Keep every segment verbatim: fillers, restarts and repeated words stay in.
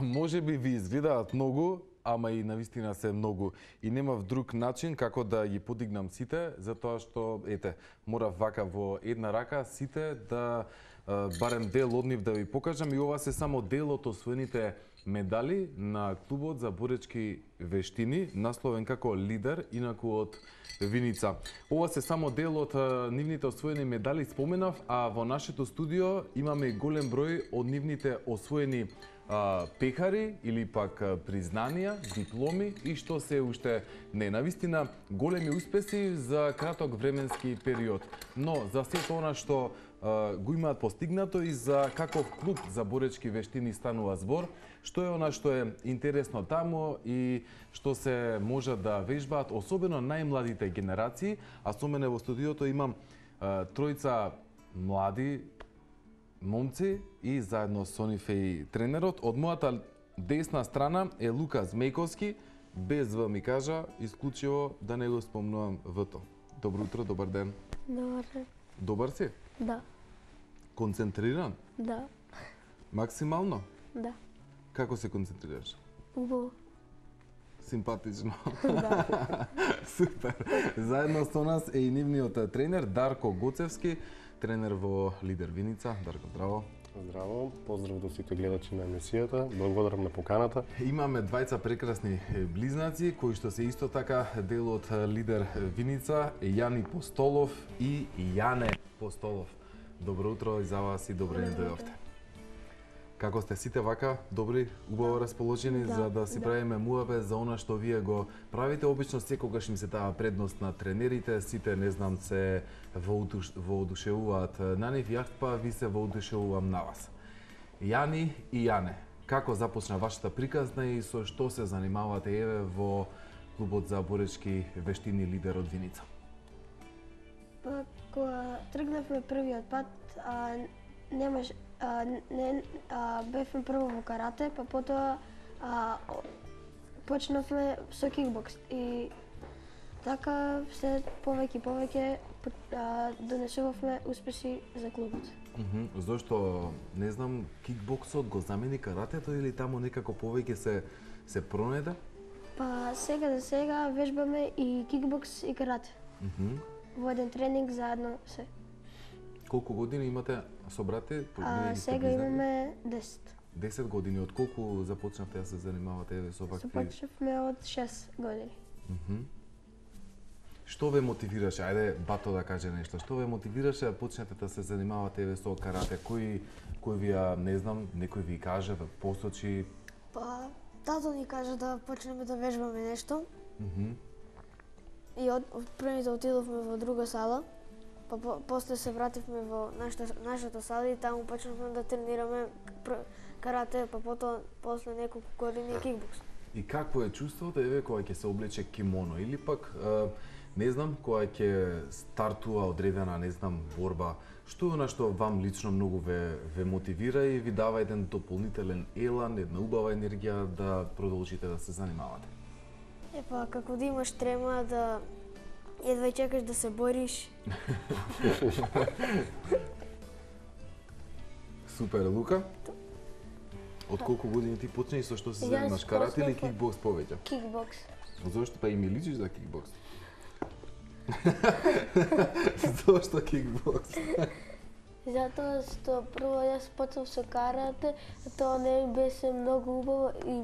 Може би ви изгледаат многу, ама и навистина се многу. И немав друг начин како да ги подигнам сите, затоа што, ете, морав вака во една рака сите да барем дел од нив да ви покажам, и ова се само дел од освоените медали на клубот за боречки вештини, насловен како лидер, инаку од Виница. Ова се само дел од нивните освоени медали, споменав, а во нашето студио имаме и голем број од нивните освоени а, пехари или пак признанија, дипломи и што се уште не. Навистина големи успеси за краток временски период. Но за сето она што а, го имаат постигнато и за каков клуб за боречки вештини станува збор, што е она што е интересно таму и што се може да вежбаат, особено најмладите генерации, а со мене во студиото имам а, тројца млади момци и заедно со нив е и тренерот. Од мојата десна страна е Лука Змејковски, без В ми кажа, исклучиво да не го спомнувам В-то. Добро утро, добар ден. Добар ден. Добар си? Да. Концентриран? Да. Максимално? Да. Како се концентрираш? Убаво. Симпатично. Да. Супер. Заедно со нас е и нивниот тренер Дарко Гоцевски, тренер во Лидер Виница. Дарко, здраво. Здраво, поздрав до сите гледачи на емисијата. Благодарам на поканата. Имаме двајца прекрасни близнаци кои што се исто така дел од Лидер Виница, Јани Постолов и Јане Постолов. Добро утро и за вас и добро ни дојдовте. Како сте сите вака добри, убаво расположени Да, за да си да. правиме муабе за она што вие го правите? Обично секогаш им се дава предност на тренерите, сите не знам се воодуш, воодушевуваат на нив, јас па ви се воодушевувам на вас. Јани и Јане, како започна вашата приказна и со што се занимавате еве во клубот за боречки вештини Лидер од Виница? Па, кога тргнавме првиот пат, а, немаш, а, не, а, бевме прво во карате, па потоа а, о- почнавме со кикбокс и така се повеќе и повеќе а, донесувавме успеси за клубот. Мгм. Зошто, не знам, кикбоксот го замени каратето или таму некако повеќе се се пронеде? Па сега за сега вежбаме и кикбокс и карате. Мгм. Во еден тренинг заедно се. Колку години имате со брате? А Вие ги сте сега близнаки? имаме десет. десет години. Од колку започнавте да се занимавате еве со вакви? Започнавме од шест години. Мгм. Што ве мотивираше? Ајде бато да каже нешто. Што ве мотивираше да почнете да се занимавате еве со карате? Кој кој ви ја, не знам, некој ви каже, ве посочи? Па, тато ни кажа да почнеме да вежбаме нешто Мгм. и од, од првите отидовме во друга сала, па по, после се вративме во нашата, нашата сала и таму почнавме да тренираме пр- карате, па потоа после неколку години кикбокс. И какво е чувството еве кога ќе се облече кимоно или пак е, не знам кога ќе стартува одредена, не знам, борба? Што е она што вам лично многу ве ве мотивира и ви дава еден дополнителен елан, една убава енергија да продолжите да се занимавате? Е па, како да имаш трема да едва и чекаш да се бориш. Супер, Лука. Од колку години ти почна и со што се Јас занимаваш? Карате или почнав од- кикбокс повеќе? Кикбокс. Зошто па и ми личиш за кикбокс? Зошто кикбокс? Затоа што прво јас почнав со карате, тоа не ми беше многу убаво и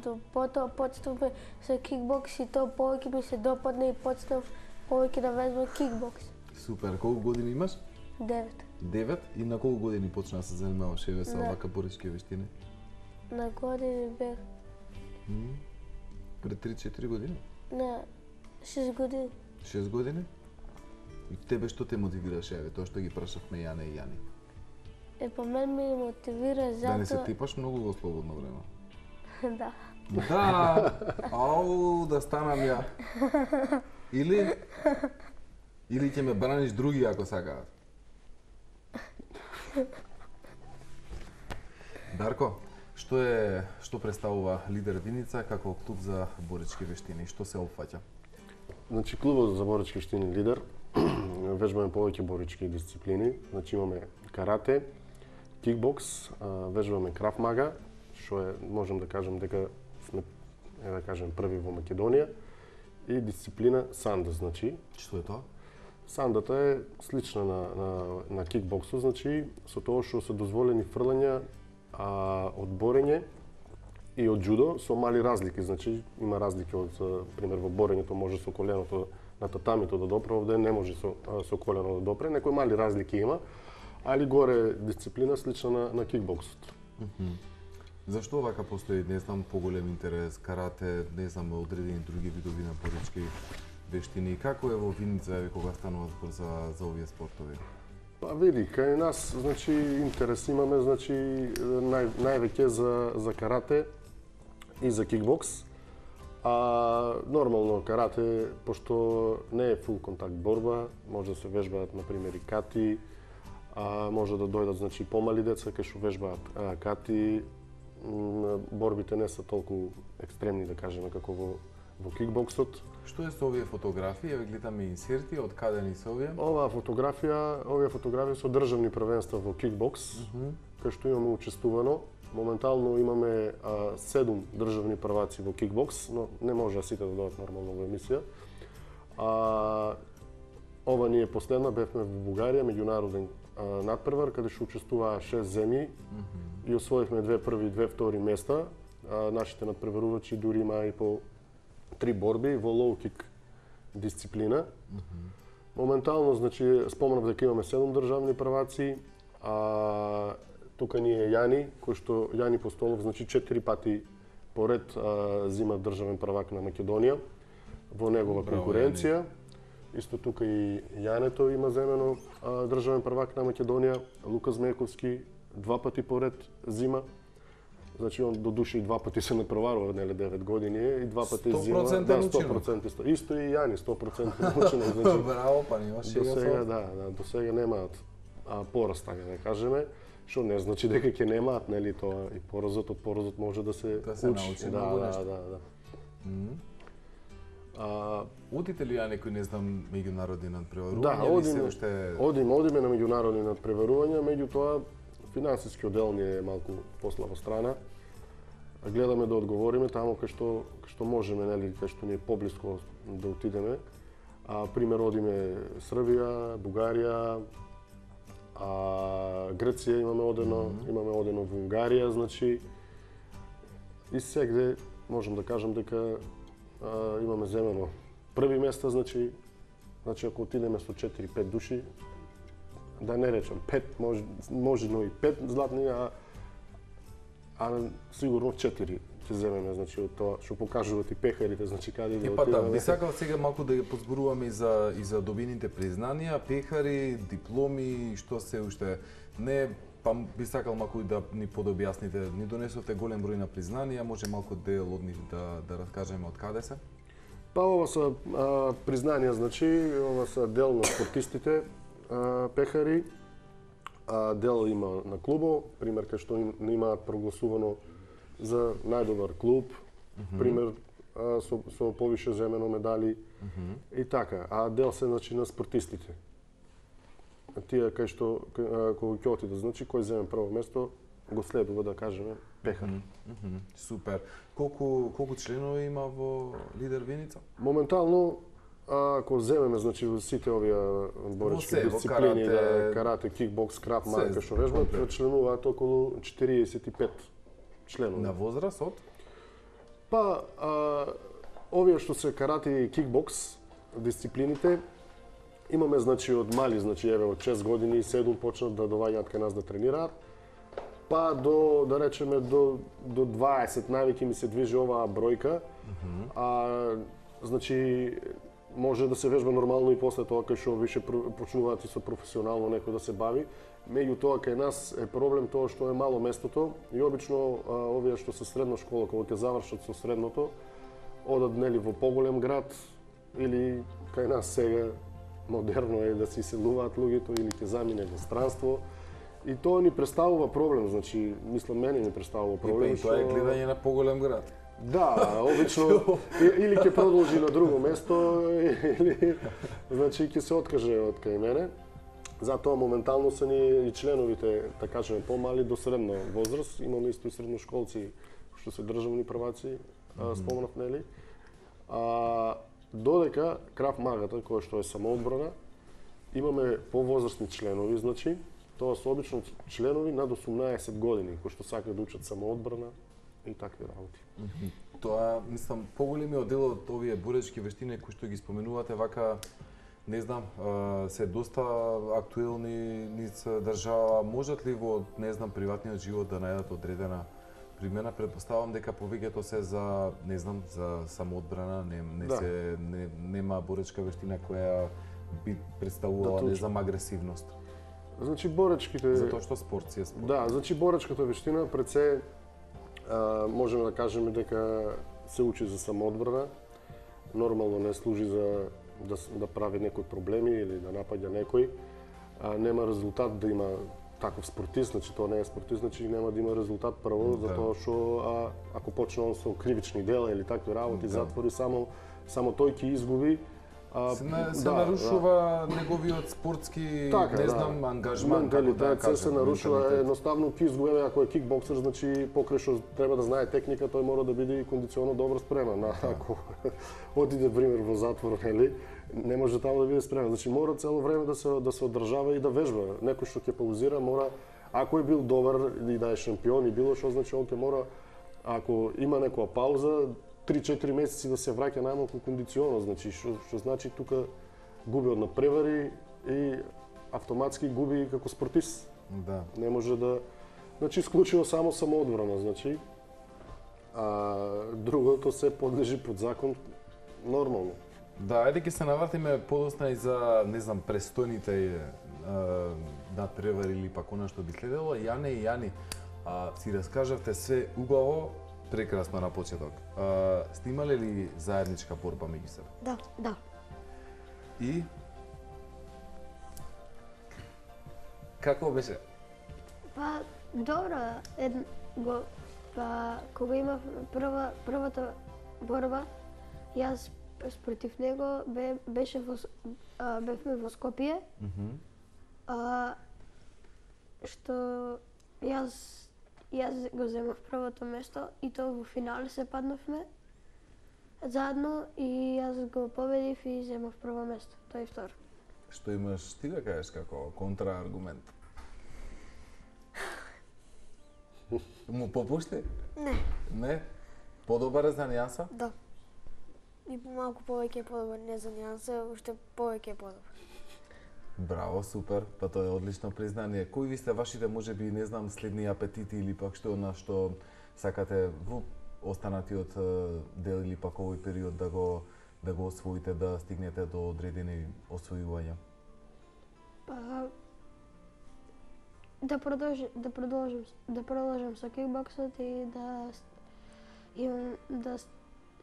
до потоа почнавме со кикбокс и тоа повеќе ми се допадна и почнав повеќе да вежбам кикбокс. Супер, колку години имаш? Девет. Девет. И на колку години почна да се занимаваш еве со Да. вака боречки вештини? На години бех М? Пред три-четири години? на шест години. шест години? И тебе што те мотивираше, еве, тоа што ги прашавме Јане и Јани? Е, по мен ме мотивира Да не се затоа... типаш многу во слободно време. Да. Да! Ау, да станам ја. Или или ќе ме браниш други ако сакаат. Дарко, што е што представува Лидер Виница како клуб за боречки вештини? Што се опфаќа? Значи, клубот за боречки вештини Лидер вежбаме повеќе боречки дисциплини. Значи, имаме карате, кикбокс, а, вежбаме крав мага, што е, можем да кажем дека сме, е да кажем, први во Македонија, и дисциплина санда, значи. Што е тоа? Сандата е слична на, на, на кикбоксот, значи со тоа што се дозволени фрлања, а, од борење и од џудо со мали разлики, значи има разлики од, пример, во борењето може со коленото на татамито да допре, овде не може со, со колено да допре, некои мали разлики има, али горе дисциплина слична на, на кикбоксот. Mm -hmm. Зашто вака постои, не знам, поголем интерес, карате, не знам, одредени други видови на борички вештини? Како е во Виница кога станува збор за, за овие спортови? Па види, кај нас, значи, интерес имаме, значи, нај, највеќе за, за карате и за кикбокс. А нормално карате, пошто не е фул контакт борба, може да се вежбаат, например, и кати, а може да дојдат, значи, помали деца кај што вежбаат а, кати. Борбите не се толку екстремни, да кажеме, како во, во кикбоксот. Што е со овие фотографии? Еве гледаме инсерти, од каде ни се овие? Оваа фотографија, овие фотографии со државни првенства во кикбокс, mm -hmm. кај што имаме учествувано. Моментално имаме а, седум државни прваци во кикбокс, но не може сите да дојдат нормално во емисија. А, ова ни е последна, бевме во Бугарија, меѓународен а, надпревар, каде што учествуваа шест земји, mm -hmm. и освоивме две први и две втори места. А, нашите надпреварувачи дури имаа и по три борби во лоу-кик дисциплина. Mm -hmm. Моментално, значи, спомнав дека имаме седум државни прваци, а тука ни е Јани, кој што Јани Постолов, значи четири пати поред а, зима државен првак на Македонија во негова Браво, конкуренција. Јани. Исто тука и Јането има земено а, државен првак на Македонија, Лука Змејковски два пати поред зима. Значи он до души и два пати се напреварува, нели девет години е, и два пати зима. Да, сто проценти исто. Исто и Јани сто проценти научено, значи. Браво, па нема До сега, да, да, до сега немаат а, пораст, така да кажеме, што не значи дека ќе немаат, нели, тоа и поразот од поразот може да се, да се учи. научи да, многу да, нешто. да, да. Mm -hmm. А, Одите ли ја некој, не знам, меѓународни надпреварувања? да, или одиме, се уште... одиме, одиме на меѓународни надпреварувања, меѓутоа финансиски оддел ни е малку послаба страна. Гледаме да одговориме таму кај што кај што можеме, нели, кај што ни е поблиско да отидеме. А пример одиме Србија, Бугарија, а Грција имаме одено, mm -hmm. имаме одено во Унгарија, значи и сегде можам да кажам дека а, имаме земено први места, значи значи ако отидеме со четири-пет души, да не речам пет, може можено и пет златни, а а сигурно четири ќе земеме, значи од тоа што покажуваат и пехарите, значи каде да Е, па да, отидеме. би сакал сега малку да ја позборуваме и за и за добините признанија, пехари, дипломи, што се уште не, па би сакал малку и да ни подобјасните. Ни донесовте голем број на признанија, може малку дел од нив да да раскажеме од каде се? Па ова се а, признанија, значи ова се дел на спортистите, а, пехари, а дел има на клубо, пример кај што им, имаат прогласувано за најдобар клуб, mm -hmm. пример а, со, со повише земено медали, mm -hmm. и така. А дел се, значи, на спортистите. Тие кај што кога ќе отиде, значи кој земе прво место, го следува, да кажеме, пехар. Mm -hmm. Супер. Колку колку членови има во Лидер Виница? Моментално, ако земеме, значи, сите овие боречки дисциплини, карате, да, карате, кикбокс, крап марка, што вежбаат, членуваат околу четириесет и пет членови. На возраст од? Па, а, овие што се карате и кикбокс дисциплините, имаме, значи, од мали, значи, еве, од шест години и седум почнат да доаѓаат кај нас да тренираат, па до, да речеме, до, до дваесет, највеќе ми се движи оваа бројка, mm -hmm. а, значи, може да се вежба нормално и после тоа кај што више почнуваат и со професионално некој да се бави. Меѓутоа кај нас е проблем тоа што е мало местото и обично а, овие што се средна школа кога ќе завршат со средното, одат, нели, во поголем град или кај нас сега модерно е да се иселуваат луѓето или ќе замине во странство. И тоа ни представува проблем, значи, мислам, мене ни представува проблем. И, па, и тоа е гледање на поголем град. Да, обично или ќе продолжи на друго место или значи ќе се откаже од кај мене. Затоа моментално се ни и членовите, така кажеме, помали до средна возраст. Имаме исто и средношколци што се државни прваци, mm-hmm. спомнав, нели? А додека Крав Магата, кој што е самоодбрана, имаме повозрастни членови, значи, тоа се обично членови над осумнаесет години, кои што сакаат да учат самоодбрана и такви работи. Mm-hmm. Тоа, мислам, поголемиот дел од овие боречки вештини кои што ги споменувате вака, не знам, се доста актуелни низ држава. Можат ли во, не знам, приватниот живот да најдат одредена примена? Предпоставам дека повеќето се за, не знам, за самоодбрана, не, не да. се не, нема боречка вештина која би представувала, да, не знам, агресивност. Значи боречките Затоа што спорт си е спорт. Да, значи боречката вештина пред се а, можеме да кажеме дека се учи за самоодбрана. Нормално не служи за да, да прави некои проблеми или да напаѓа некој. А, нема резултат да има таков спортист, значи тоа не е спортист, значи нема да има резултат прво, да. Затоа што а, ако почне он со кривични дела или такви работи, да. Затвори, само само тој ќе изгуби. А, се на, се да, нарушува да. Неговиот спортски, така, не да. Знам, ангажман, како да кажем. Се се нарушува, едноставно ќе изгуби, ако е кикбоксер, значи покрај што треба да знае техника, тој мора да биде и кондиционно добро спремен. Да. Ако отиде пример во затвор, нели, не може таму да биде спремен. Значи мора цело време да се да се одржава и да вежба. Некој што ќе паузира мора, ако е бил добар и да е шампион и било што, значи он ќе мора, ако има некоја пауза, три-четири месеци да се враќа најмалку кондиционно, значи што што значи тука губи од напревари и автоматски губи како спортист. Да. Не може да, значи исклучиво само самоодбрана, значи. А другото се подлежи под закон нормално. Да, ајде ќе се навратиме подосна и за, не знам, престојните надпревари или пак она што би следело. Јане и Јани, а, си раскажавте се убаво, прекрасно на почеток. А, сте имале ли заедничка борба меѓу себе? Да. Да. И како беше? Па добро, ед го па кога имав прва првата борба, јас спротив него бе, беше во а, бевме во Скопје. Mm-hmm. А, што јас јас го земав првото место и тоа во финале се паднавме заедно и јас го победив и земав прво место, тој втор. Што имаш ти да кажеш како контрааргумент? Му попушти? Не. Не? Подобар е за нијанса? Да. И малку повеќе е подобар, не за нијанса, уште повеќе е подобар. Браво, супер, па тоа е одлично признание. Кои ви сте вашите, можеби, не знам, следни апетити или пак што на што сакате во останатиот дел или пак овој период да го да го освоите, да стигнете до одредени освојувања? Па да продолжи, да продолжам, да продолжам со кикбоксот и да имам да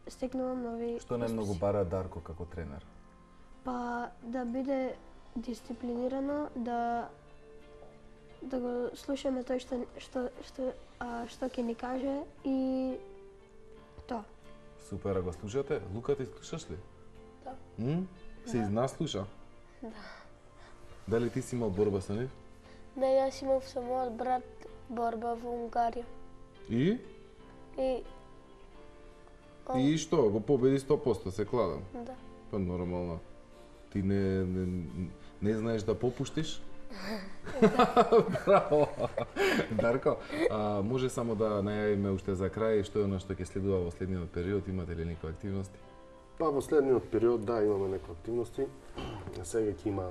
стекнувам нови. Што најмногу бара Дарко како тренер? Па да биде дисциплинирано, да да го слушаме тој што што што а, што ќе ни каже и тоа. Супер, а го слушате? Лука, ти слушаш ли? Да. М? Се Да. изнаслуша? Да. Дали ти си имал борба со нив? Да, јас имав со мојот брат борба во Унгарија. И? И И што? Го победи сто проценти, се кладам. да. Па нормално. Ти не, не, не знаеш да попуштиш? Браво! Дарко, а, може само да најавиме уште за крај што е она што ќе следува во следниот период, имате ли некои активности? Па во следниот период да имаме некои активности. Сега ќе има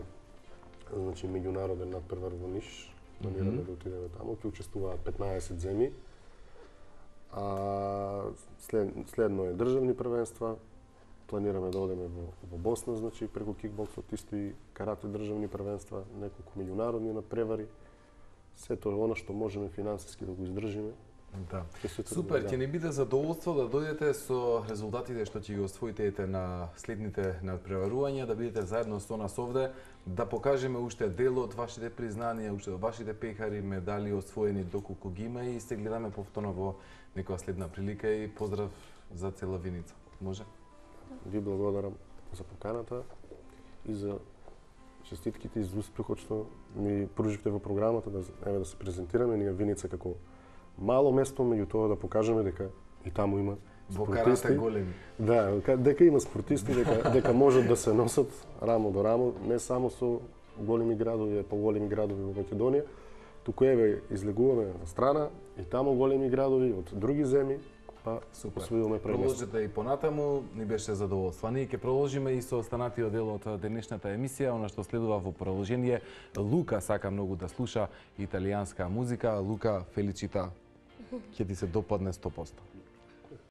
значи меѓународен надпревар во Ниш. Планираме mm -hmm. да отидеме таму, ќе учествуваат петнаесет земји. А след, следно е државни првенства. Планираме да одеме во, во Босна, значи преку кикбоксот, исто и карате државни првенства, неколку меѓународни надпревари. Сето она што можеме финансиски да го издржиме. Да. Супер, ќе ни биде задоволство да дојдете со резултатите што ќе ги освоите на следните надпреварувања, да бидете заедно со нас овде, да покажеме уште дел од вашите признанија, уште од вашите пехари, медали освоени доколку ги има и се гледаме повторно во некоја следна прилика и поздрав за цела Виница. Може? Ви благодарам за поканата и за честитките за успехот што ми пруживте во програмата да еве да се презентираме ние Виница како мало место, меѓу тоа да покажеме дека и таму има Во спортисти. карате големи. Да, ка- дека има спортисти, дека дека можат да се носат рамо до рамо, не само со големи градови, поголеми градови во Македонија, туку еве излегуваме на страна и таму големи градови од други земји, па Супер. освојуваме пред место. Продолжете и понатаму, ни беше задоволство. Ние ќе продолжиме и со останатиот дел од денешната емисија, она што следува во продолжение. Лука сака многу да слуша италијанска музика. Лука, феличита, ќе ти се допадне сто проценти.